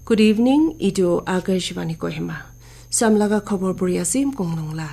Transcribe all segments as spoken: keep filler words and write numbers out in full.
Good evening, itu Akashvani Kohima. Samlaga khobor puri asim kongnungla.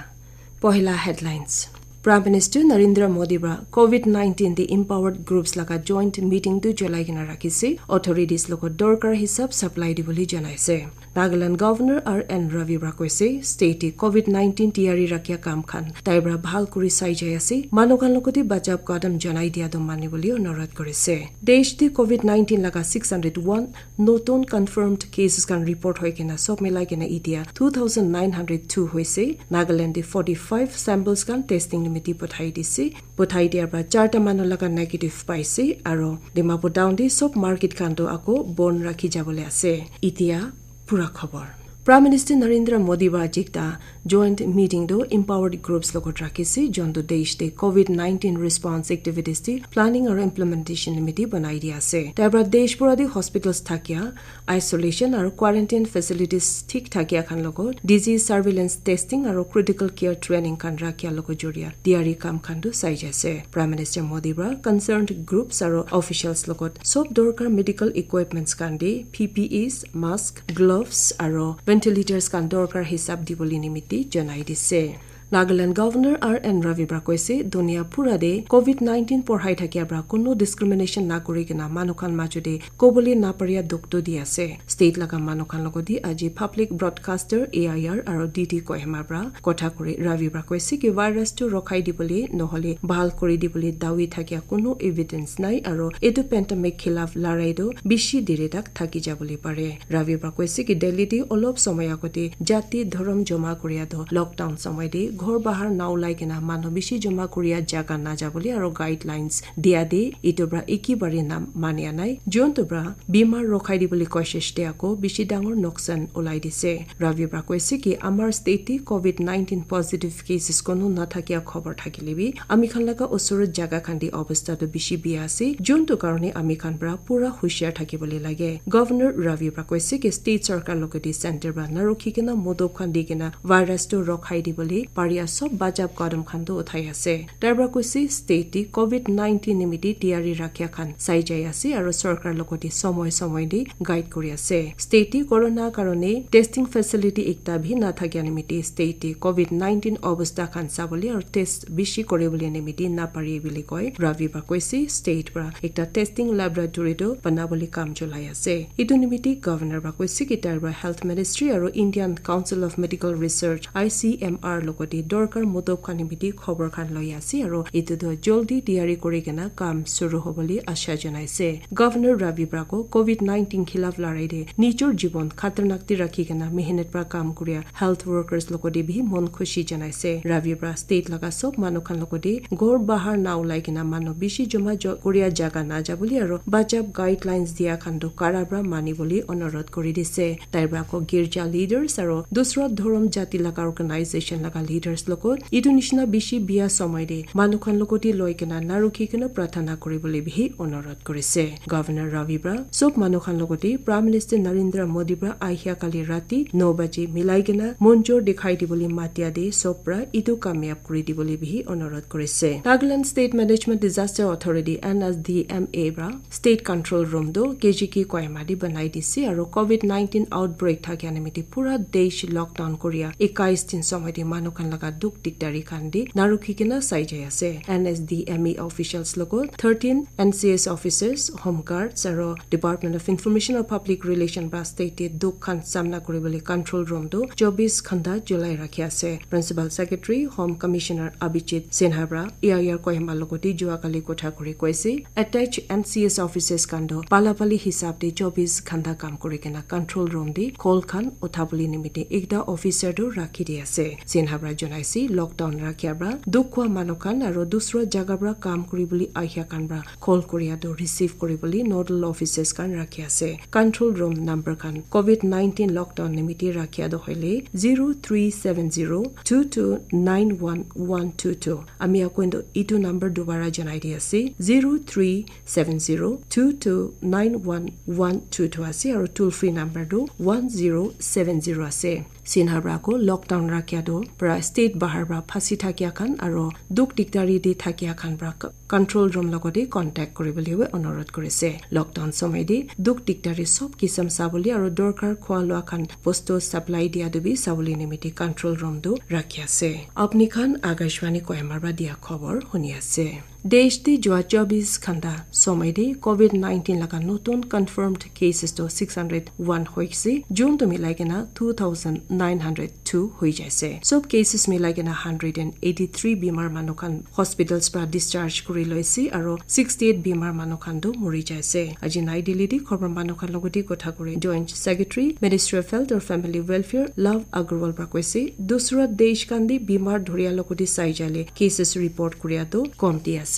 Pohila headlines. Prime Minister Narendra Modi pra COVID nineteen the empowered groups laga joint meeting tu cholai kena rakhise. Authorities logot dorkar hisab supply dibole janaise. Nagaland Governor R N Ravi pra koise, state te COVID nineteen tiyari rakya kam khan tai pra bhal kuri sai jai ase. Manu khan logote bachab kadam janai dia do mani bole onurodh korise. Desh te COVID nineteen laga six hundred one notun confirmed cases khan report hoi kena sob milai kena itia two thousand nine hundred two hoise. Nagaland te forty five samples khan testing nimiti pothai dise. Pothai diar pra charta manu laga negative paise aro Dimapur town te sob market khan to ako bon rakhi jabole ase. Itia pura khobor. Prime Minister Narendra Modi pra ajikta joint meeting to empowered groups logot rakhise, jontu desh te COVID nineteen response activities te planning aro implementation nimiti banai dia ase. Tai pra desh pura te hospitals thakia isolation aro quarantine facilities thik thakia khan logot disease surveillance testing aro critical care training khan rakhia logot joria tiyari kam khan tu sai jai ase. Prime Minister Modi pra concerned groups aro officials logot sob dorkar medical equipments khan de P P Es, mask, gloves aro ventilators khan dorkar hisab dibole nimiti janai dise. Nagaland Governor R N Ravi pra koise, dunia pura de COVID nineteen porhai thakia pra kunu discrimination na kuri kena manu khan majo de kobole na paria dukh to di ase. State laga manu khan logot di aji public broadcaster A I R aro D D Kohima pra kotha kuri Ravi pra koise ki virus tu rokhai dibole nohole bhal kuri dibole dawi thakia kunu evidence nai aro etu pandemic khilaf larai tu bishi diri tak thaki jabole pare. Ravi pra koise ki Delhi te olop somoy agote jati dhorom joma kuria tu lockdown somoy te ghor bahar na ulai kena manu bishi joma kuria jaga na jabole aro guidelines dia de itu pra iki bari na mania nai. Jontu pra bimar rokhai dibole koshish te ako bishi dangor noksan ulai dise. Ravi pra koise ki amar state te COVID nineteen positive cases kono na thakia khobor thakile bi ami khan laga usurot jaga khan te obostha to bishi biya ase, jontu karone ami khan pra pura hushiar thakibole lage. Governor Ravi pra koise ki state sarkar logote center pra na rukhi kena modob khan di kena virus to rokhai dibole paria sob bachab kadam khan to uthai ase. Tai pra koise state te COVID nineteen nimiti tiyari rakhia khan sai jai ase aro sarkar logote somoy somoy te guide kuri ase. State te corona karone testing facility ekta bhi na thakia nimiti state te COVID nineteen obostha khan sabole aro test bishi kori bole nimiti na pari bole koi. Ravi pra koise state pra ekta testing laboratory to bana bole kam cholai ase. Itu nimiti governor pra koise ki tai pra health ministry aro Indian Council of Medical Research I C M R logote dorkar modob khan nimiti khobor khan loi ase aro itu to joldi tiyari kuri kena kam suru hobole asha janai ase. Governor Ravi pra ko COVID nineteen khilaf larai de nijor jibon khatarnak te rakhi kena mehnat pra kam kuria health workers logote bi mon khushi janai ase. Ravi pra state laga sob manu khan logote ghor bahar na ulai kena manu bishi joma jo kuria jaga na jabole aro bachab guidelines dia khan to kara pra mani bole onurodh kuri dise. Tai pra ko girja leaders aro dusra dhorom jati laga organization laga leaders logot itu nishina bishi biya somoy de manu khan logote loi kena na rukhi kena prarthana kuri bole bi onurodh korise. Governor Ravi pra sob manu khan logote Prime Minister Narendra Modi pra ahia kali rati no baje milai kena monjor dikhai dibole matia de sob pra itu kamyab kuri dibole bi onurodh korise. Nagaland State Management Disaster Authority N S D M A pra state control room tu K G K Kohima te banai dise aro COVID nineteen outbreak thakia nimiti pura desh lockdown kuria ekais din somoy te manu khan laga dukh dikdari khan te na rukhi kena sai jai ase. N S D M A officials logot thirteen N C S officers, home guards aro Department of Information or Public Relation pra state te dukh khan samna kuri bole control room tu chobis ghanta cholai rakhi ase. Principal Secretary, Home Commissioner Abhijit Sinha pra A I R Kohima logote jua kali kotha kuri koise, attached N C S officers khan to pala pali hisab te chobis ghanta kam kuri kena control room te call khan uthabole nimite ekta officer to rakhi di ase. Sinha pra janaise lockdown rakhia pra dukh hua manu khan aro dusra jaga pra kam kuri bole ahia khan pra call kuria to receive kuri bole nodal officers khan rakhi ase. Control room number khan COVID nineteen lockdown nimite rakhia to hoile zero three seven zero two two nine one one two two. Ami akoi to itu number dubara janai di ase, zero three seven zero two two nine one one two two ase, aro toll free number tu one zero seven zero ase. Sinha pra ko lockdown rakhia tu pra state bahar pra phasi thakia khan aro dukh dikdari te thakia khan pra control room logote contact kuribole bi onurodh kurise. Lockdown somoy te dukh dikdari sob kisam sabole aro dorkar khwa lwa khan bostu supply dia tu bi sabole nimite control room tu rakhi ase. Apni khan Akashvani Kohima pra dia khobor huni ase. Desh te jua chobis ghanta somoy te covid nineteen laga notun confirmed cases to six hundred one hoise, June to milai kena two thousand nine hundred two hoi jaise. Sob cases milai kena hundred and eighty three bimar manu khan hospitals pra discharge kuri loise aro sixty eight bimar manu khan tu mori jaise. Aji Nai Delhi te khobor manu khan logote kotha kuri Joint Secretary, Ministry of Health or Family Welfare, Love Agarwal pra koise, dusra desh khan te bimar dhuria logote sai jale cases report kuria tu komti ase.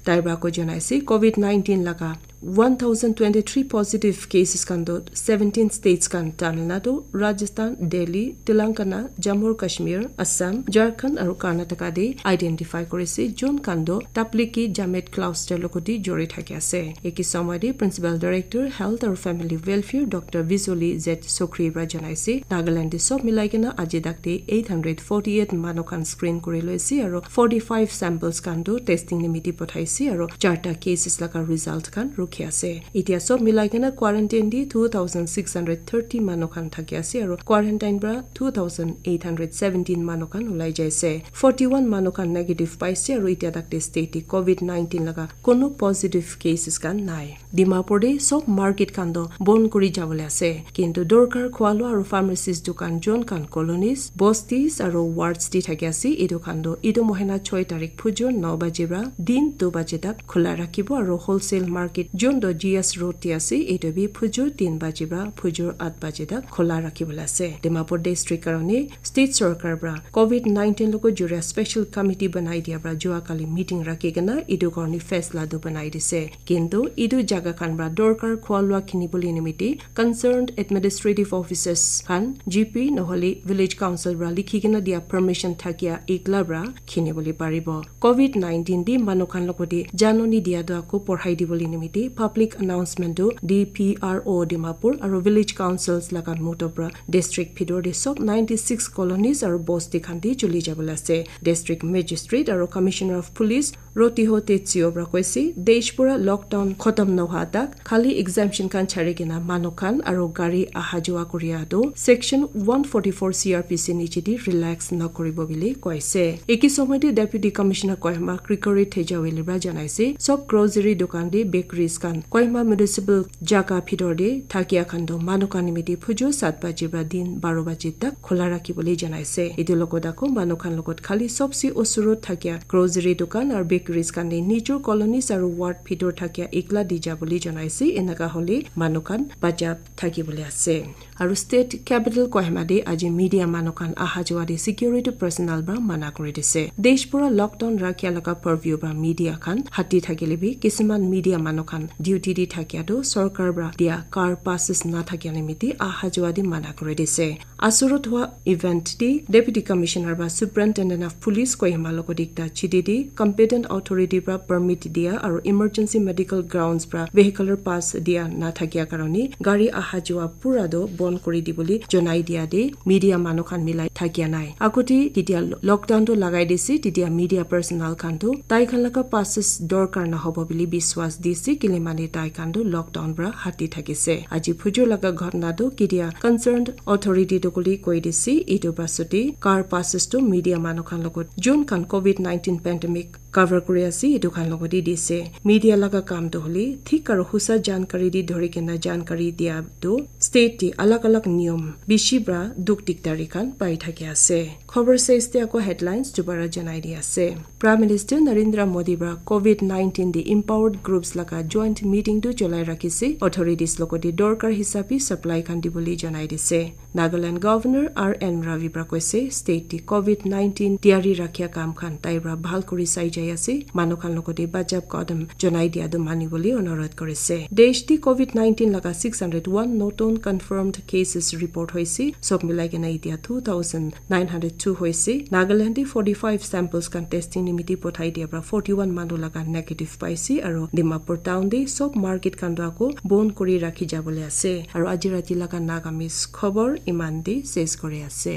Tai pra ko janaise covid nineteen laga one thousand twenty three positive cases khan tu seventeen states khan Tamil Nadu, Rajasthan, Delhi, Telangana, Jammu Kashmir, Assam, Jharkhand aru Karnataka te identify kurise, jun khan tu Tabliki Jamet cluster logote jori thaki ase. Eki somoy te Principal Director Health aru Family Welfare Doctor Vijoli Z Sokri pra janaise, Nagaland te sob milai kena aji tak te eight hundred forty eight manu khan screen kuri loise aru forty five samples khan tu testing nimiti pathaise aru charta cases laga result khan rukhi ase. Itia sob milai kena quarantine te two thousand six hundred thirty manu khan thaki ase aru quarantine pra two thousand eight hundred seventeen manu khan ulai jaise. Forty one manu khan negative paise aru itia tak te state te covid nineteen laga kono positive cases khan nai. Dimapur te sob market khan tu bon kuri jabole ase, kintu dorkar khwa lua aru pharmacies dukan jon khan colonies, bosties aru wards te thaki ase, etu khan tu etu mohina choi tarik phujur no baje pra din two baje tak khula rakhibo aru wholesale market jon tu G S road te ase, etu bi phujur tin baje pra phujur at baje tak khula rakhibole ase. Dimapur district karone state sorkar pra covid nineteen logo juria special committee banai dia pra jua kali meeting rakhi kena etu karone faisla tu banai dise. Kintu etu jaga khan pra dorkar khwa lua khinibole nimiti concerned administrative officers khan G P nohole village council pra likhi kena dia permission thakia ekla pra khinibole paribo. Covid nineteen te manu khan logote janoni dia tu ako porhai dibole nimiti public announcement tu D P R O Dimapur aru village councils laga moto pra district bhitor te sob ninety six colonies aru bosti khan te chuli jabole ase. District magistrate aru commissioner of police Rotiho Tetsio pra koise, desh pura lockdown khotom nohwa tak khali exemption khan chari kena manu khan aru gari aha jua kuria tu section one forty four C R P C niche te relax nakuribo bili koise. Eki somoy te Deputy Commissioner Kohima Gregory Thejaweli pra janaise, sob grocery dukan te bakeries khan Kohima municipal jaga bhitor te thakia khan tu manu khan nimiti phujur sat baji pra din baro baji tak khula rakhibole janaise. Etu logot ako manu khan logot khali sobse osorot thakia grocery dukan aru bakeries khan te nijor colonies aru ward bhitor thakia ekla di jabole janaise. Enaka hole manu khan bachap thakibole ase. Aru state capital Kohima te aji media manu khan aha jua te security personnel pra mana kuri dise. Desh pura lockdown rakhia laga purview pra media khan hati thakile bi kisiman media manu khan duty te thakia tu sorkar pra dia car passes na thakia nimiti aha jua te mana kuri dise. Asurut hua event te Deputy Commissioner pra Superintendent of Police Kohima logot ekta chiti te competent authority pra permit dia aru emergency medical grounds pra vehicular pass dia na thakia karone gari aha jua pura do bon kuri dibole jonai dia te media manu khan milai thakia nai. Agote ketia lockdown tu lagai dise, tetia media personnel khan tu tai khan laga passes dorkar nahobo bili biswas dise, kile mane tai khan tu lockdown pra hati thakise. Aji phujur laga ghotna tu ketia concerned authority tu kuli koi dise, etu pasate car passes tu media manu khan logot jun khan covid nineteen pandemic cover kuri ase, etu khan logot te dise. Media laga kam tu hole thik aru husa jankari te dhori kena jankari dia tu state te alag alag niyom bishi pra dukh dikdari khan pai thaki ase. Khobor shes te ako headlines dubara janai di ase. Prime Minister Narendra Modi pra covid nineteen te empowered groups laga joint meeting tu cholai rakhise. Authorities logote dorkar hisabe supply khan dibole janai dise. Nagaland Governor R N Ravi pra koise state te covid nineteen tiyari rakhia kam khan tai pra bhal kuri sai jai ase. Manu khan logote bachap kadam jonai dia tu mani bole onurodh kurise. Desh te covid nineteen laga six hundred one notun confirmed cases report hoise. Sob milai kena itia two thousand nine hundred two hoise. Nagaland te forty five samples khan testing nimiti pothai dia pra forty one manu laga negative paise aru Dimapur town te sob market khan tu ako bon kuri rakhi jabole ase. Aru aji rati laga Nagamese khobor iman te ses kuri ase.